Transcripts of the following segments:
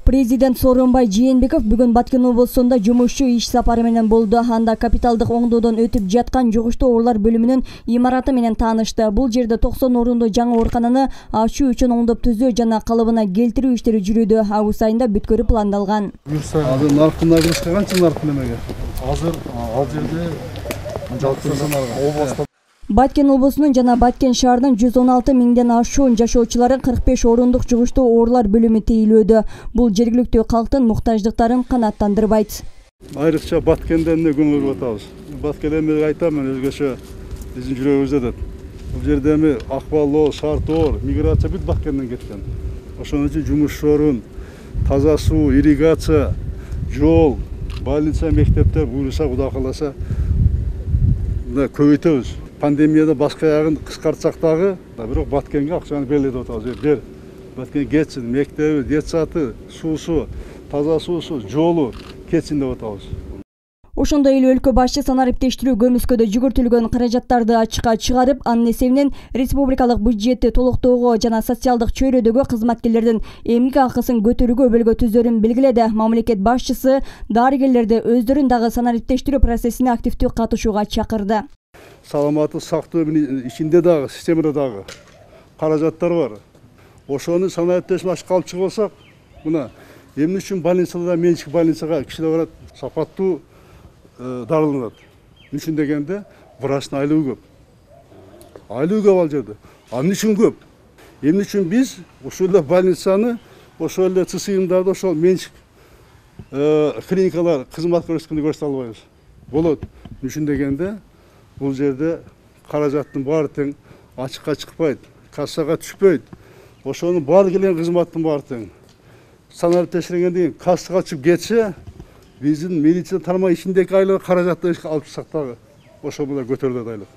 Президент Сооронбай Жээнбеков бүгүн Баткен облусунда жумушчу иш сапары менен болду. Анда капиталдык оңдоодон өтүп жаткан жугуштуу оорулар бөлүмүнүн имараты менен таанышты. Бул жерде 90 орундуу жаңы оорукананы ачуу үчүн оңдоп түзөө жана калыбына келтирүү иштери жүрүүдө. Август айында бүткөрүү пландалган. Азыр наркын нагрузка канча наркын эмеге? Азыр ал жерде жалпы Баткен облусунун жана Баткен шаарынын 116 миңден ашуун жашоочуларын 45 орундук жугуштуу оорулар бөлүмү тейлөөдө. Бул жергиликтүү калктын муктаждыктарын канааттандырбайт. Айрыкча Баткенден көңүл буруп атабыз. Баткенде мен айтам, мен өзгөчө биздин жүрөгүбүздө деп. Бул жерде эми акбал, шарт оор, миграция бүт Баткенден кеткен. Ошон үчүн жумуш орун, таза суу, ирригация, жол, больница, мектептер буюрса, Кудай кааласа, көбөйтөбүз. Пандемияда башка ягын кыскартсак дагы, бирок Баткенге акчаны белгилеп атабыз. Бер Баткен кетсин, мектеби, детсаты, суусу, таза суусу, жолу кетсин деп атабыз. Ошондой эле өлкө башчы санариптештирүү көмүскөдө жүгүртүлгөн каражаттарды ачыкка чыгарып, анын эсебинен республикалык бюджетти толуктоого жана социалдык чөйрөдөгү кызматкерлердин эмгек акысын көтөрүүгө өбөлгө түзөрүн белгиледи. Мамлекет башчысы дарыгерлерди өздөрүн дагы санариптештирүү процессине активдүү катышууга чакырды. Саламаттык сактоо ичинде дагы, системада дагы каражаттар бар. Ошону санариптешип ачып калып чыгып алсак, мына эмне үчүн больницада, менчик больницага кишилер барат, сапаттуу дарыланат. Эмне үчүн дегенде, врачтын айлыгы көп. Айлыгы көп ал жерде. Эмне үчүн көп? Эмне үчүн биз ошол эле больницаны, ошол эле ЦСИМдарды, ошол менчик клиникалар кызмат көрсөткөндө көрсөтө албайбыз? Болот. Эмне үчүн дегенде, бул жерде каражаттын баары тең ачыкка чыкпайт, кассага түшпөйт. Ошонун баары келген кызматтын баары тең. Санариптештиргенден кийин кассага чыгып кетсе, биздин медицина тармагы ичиндеки айлык каражатты алып чыксак дагы ошол менен көтөрүлөт айлык.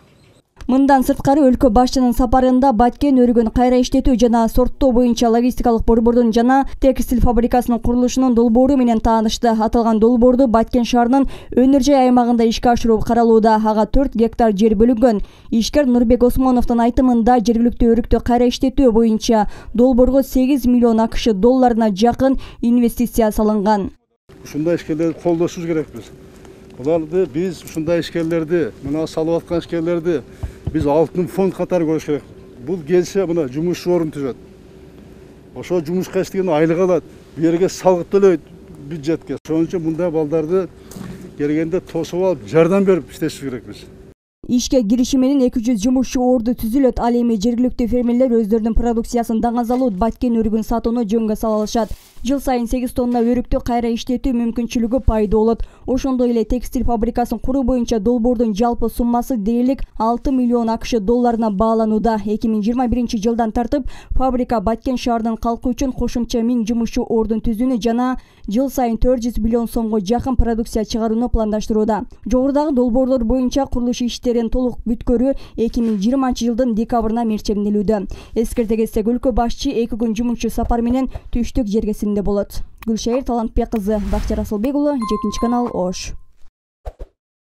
Мындан сырткары өлкө башчынын сапарында Баткен өрүгүн кайра иштетүү жана сорттоо боюнча логистикалык борбордун жана текстиль фабрикасынын курулушунун долбоору менен таанышты. Аталган долбоорду Баткен шаарынын өнөр жай аймагында ишке ашыруу каралууда. Ага 4 гектар жер бөлүнгөн. Ишкер Нурбек Осмоновдун айтымында жергиликтүү өрүктү кайра иштетүү боюнча долбоорго 8 миллион акш долларына жакын инвестиция салынган. Ушундай ишкерлерди колдошубуз керекпиз. Буларды биз ушундай ишкерлерди, мына салып аткан ишкерлерди биз алтын фонд катары көрүш керек. Бул келсе мына жумуш орун түзөт. Ошо жумушка иштеген айлык алат, бу жерге салык төлөйт бюджетке. Ошон үчүн мындай балдарды келгенде тосуп алып, жардам берип иштешибиз керекпиз. Ишке кириши менен 200 жумушчу орду түзүлөт. Ал эми жергиликтүү фермерлер өздөрүнүн продукциясын даңазалуу Баткен өрүгүн сатууну жөнгө сала алышат. Жыл сайын 8 тонна өрүктү кайра иштетүү мүмкүнчүлүгү пайда болот. Ошондой эле текстиль фабрикасын куруу боюнча долбоордун жалпы суммасы дээрлик 6 миллион акш долларына бааланууда. 2021 жылдан тартып фабрика Баткен шаарынын калкы үчүн кошумча 1000 жумушчу ордун түзүүнү жана жыл сайын 400 миллион сомго жакын продукция чыгарууну пландаштырууда. Жогорудагы долбоорлор боюнча курулуш иштерин толук бүткөрүү 2020 жылдын декабрына мерчемделүүдө. Эскерте кетсек, өлкө башчы 2 күн жумушчу сапар менен түштүк жергесинде болот. Гүлшайыр Талантбек кызы, Бактияр Асылбек уулу, 7 канал, Ош.